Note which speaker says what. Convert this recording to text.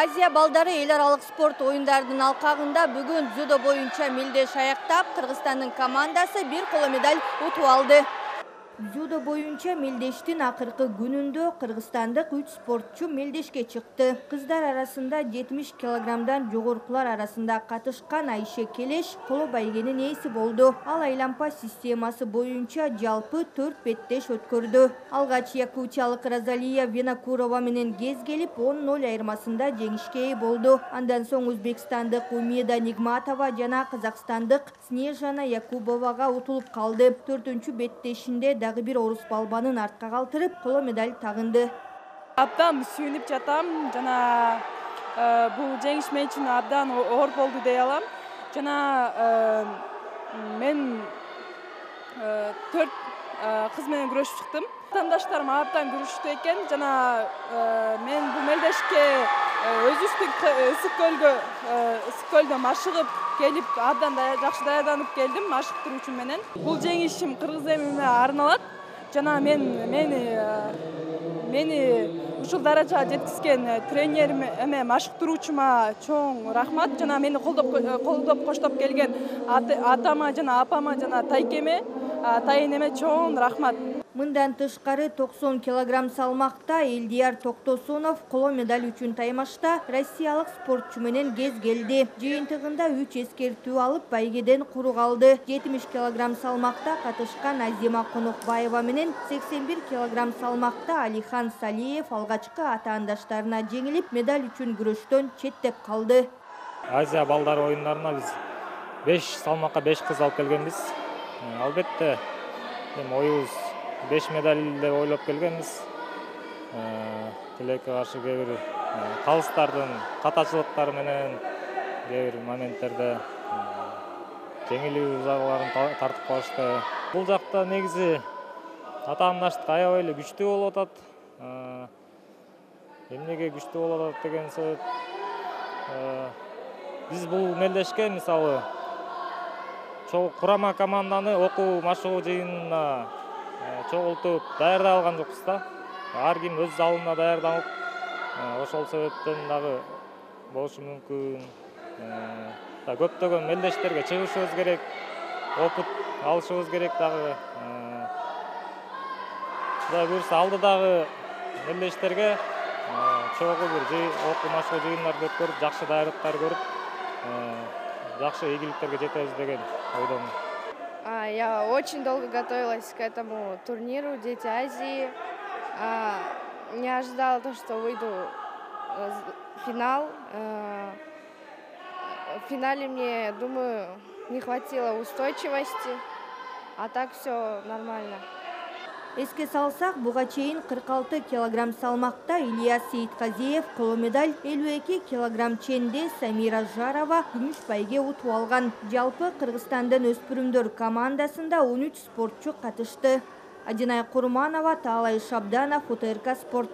Speaker 1: Азия балдары эл аралык спорт оюндарынын алкагында бүгүн дзюдо боюнча мелдеш аяктап, Кыргызстандын командасы бир коло медаль утуп алды. Дзюдо боюнча мелдештин акыркы күнүндө кыргызстандык 3 спортчу мелдешке чыкты. Кыздар арасында 70 килограммдан жогоркулар арасында катышкан Айше Келеш коло байгенин ээси болду. Ал айлампа системасы боюнча жалпы 4 беттеш өткөрдү. Алгач якутиялык Розалия Винокурова менен кез келип 10-0 айырмасында жеңишке ээ болду. Андан соң Өзбекстандык Умеда Нигматова жана казакстандык Снежана Якубовага утулуп калды. 4-чү беттешинде дагы бир орус балбанын артка калтырып, коло медаль тагынды.
Speaker 2: Абдан сүйүнүп жатам жана бул жеңиш мен үчүн абдан оор болду дей алам. Жана мен 4 кыз менен күрөшүп чыктым. Атаандаштарым абдан күрөштү экен жана мен бул мелдешке өзүбүздүн ысык көлдөн машыгып келип абдан жакшы даярданып келдим машыктыруу үчүн менен. Бул жеңишим кыргыз элине арналат жана мени ушул даражага жеткизген тренерим эме машыктыруучума чоң рахмат жана мени колдоп коштоп келген атама жана апама жана тайкеме тайенеме чоң рахмат.
Speaker 1: Мындан тышкары 90 килограмм салмакта Элдияр Токтосунов коло медаль үчүн таймашта россиялык спортчу менен кез келди. Жыйынтыгында 3 эскертүү алып байгеден куру калды. 70 килограмм салмакта катышкан Азима Конокбаева менен 81 килограмм салмакта Алихан Салиев алгачкы атаандаштарына жеңилип, медаль үчүн күрөштөн четтеп калды.
Speaker 3: Азия балдары оюндарына биз 5 салмакка 5 кыз алып келгенбиз. Албетте оюбуз 5 медаль деп ойлоп келгенбиз. Тилекке каршы кээ бир калыстардын катачылыктары менен кээ бир моменттерде жеңилүү жагыларын тартып калышты. Бул жакта негизи атаандаштык аябай эле күчтүү болуп атат. Эмнеге күчтүү болуп атат деген себеп биз бул мелдешке мисалы чогуу курама команданы окуу машыгуу жыйынына чогултуп даярдай алган жокпуз да. Ар ким өз залында даярданып, ошол себептен дагы болушу мүмкүн. Көптөгөн мелдештерге чыгышыбыз керек, опыт алышыбыз керек дагы. Кудай буюрса алдыдагы мелдештерге чогуу бир окуу машыгуу жыйындарды өткөрүп, жакшы даярдыктар көрүп, жакшы ийгиликтерге жетебиз деген ойдомун.
Speaker 4: Я очень долго готовилась к этому турниру «Дети Азии». Не ожидала то, что выйду в финал. В финале мне, думаю, не хватило устойчивости, а так все нормально.
Speaker 1: Эске салсак, буга чейин 46 килограмм салмакта Ильяс Сейитказиев коло медаль, 52 килограмм ченде Самира Жарова күмүш байге утуп алган. Жалпы Кыргызстандын өспүрүмдөр командасында 13 спортчу катышты. Адинай Курманова, Таалай Шабданов, УТРК Спорт.